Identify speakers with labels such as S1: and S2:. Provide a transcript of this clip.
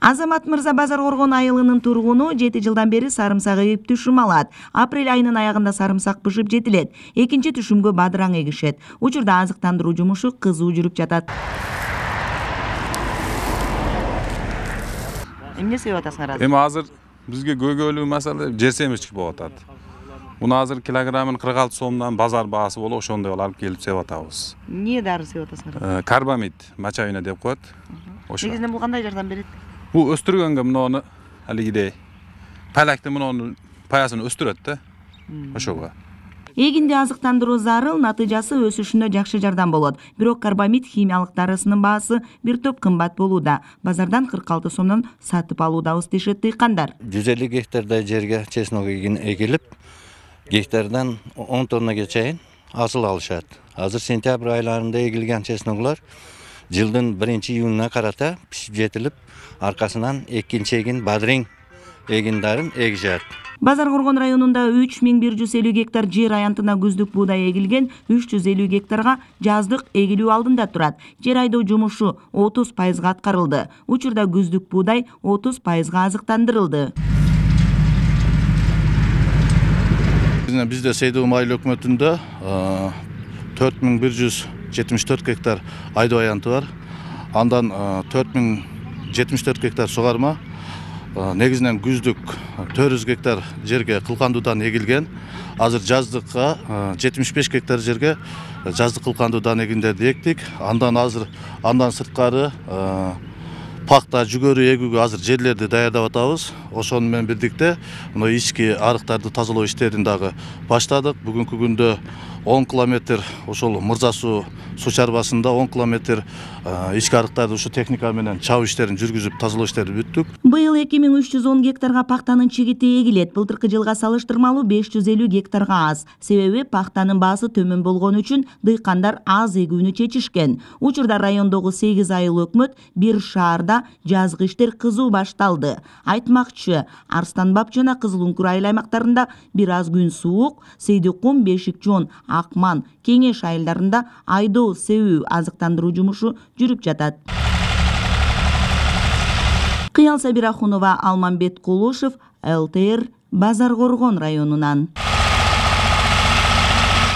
S1: Азамат Мырза Базар Коргон айылынын тургуну 7 жылдан бери сарымсак эгип түшүм алат. Апрель айынын аягында сарымсак бышып жетилет. Экинчи түшүмгө бадыраң эгишет. Учурда азыктандыруу жумушу кызуу жүрүп жатат. Эмне себеп атасыңар азыр?
S2: Эми азыр бизге көйгөйлүү маселе жер семирчик болуп атат. Муну азыр килограммын 46 сомдон базар баасы болуп ошондой алып келип сеп атабыз.
S1: Эмне дары сеп атасыңар?
S2: Карбамид, мочавина деп коет. Ошо.
S1: Негизинен бул кандай жардам берет?
S2: Бул өстүргөнгө муну алигидей палакты мунун паясын өстүрөт да. Ошого.
S1: Эгинди азыктандыруу зарыл, натыйжасы өсүшүнө жакшы жардам болот. Бирок карбамид химиялык дарысынын баасы бир топ кымбат болууда. Базардан 46 сомдон сатып алуудабыз дешет дыйкандар.
S3: 150 гектардай жерге чеснок эгилип, гектардан 10 тоннага чейин асыл алышат. Азыр сентябрь айларында эгилген чесноклор жылдын 1-июнуна карата пишип жетилип, аркасынан экинчи эгин бадырың эгиндарын эгишет.
S1: Базар Коргон районунда 3150 гектар жер аянтына күздүк буудай эгилген, 350 гектарга жаздык эгилүү алдында турат. Жер айдоо жумушу 30% аткарылды. Учурда күздүк буудай 30% азыктандырылды.
S4: Бизде Сейдуу майыл өкмөтүндө 4174 гектар айдоо аянты бар. Андан 4074 гектар сугарма. Негизинен күздүк 400 гектар жерге кылкандуудан эгилген. Азыр жаздыкка 75 гектар жерге жаздык кылкандуудан эгиндерди эктик. Андан сырткары пакта, жүгөрү эгүүгө азыр жерлерди даярдап атабыз. Ошону менен бирдикте ички арыктарды тазалоо иштерин дагы баштадык. Бүгүнкү күндө 10 километр ошол Мырза суу чарбасында 10 километр ички арыктарды ушу техника менен чабуу иштерин жүргүзүп тазалоо иштерин бүттүк.
S1: Быйыл 2310 гектарга пактанын чигити эгилет. Былтыркы жылга салыштырмалуу 550 гектарга аз. Себеби пактанын баасы төмөн болгон үчүн дыйкандар аз эгүүнү чечишкен. Учурда райондогу 8 айыл өкмөт бир шаарда жазгы иштер кызуу башталды. Айтмакчы, Арстанбап жана Кызыл Үңкүр айыл аймактарында бир аз күн суук, Сейдиккум, Бешикчоон, Акман, Кеңеш айылдарында айдоо, себүү, азыктандыруу жумушу жүрүп жатат. Кыял Сабирахунова, Алмамбет Кулушев, ЛТР, Базар Коргон районунан.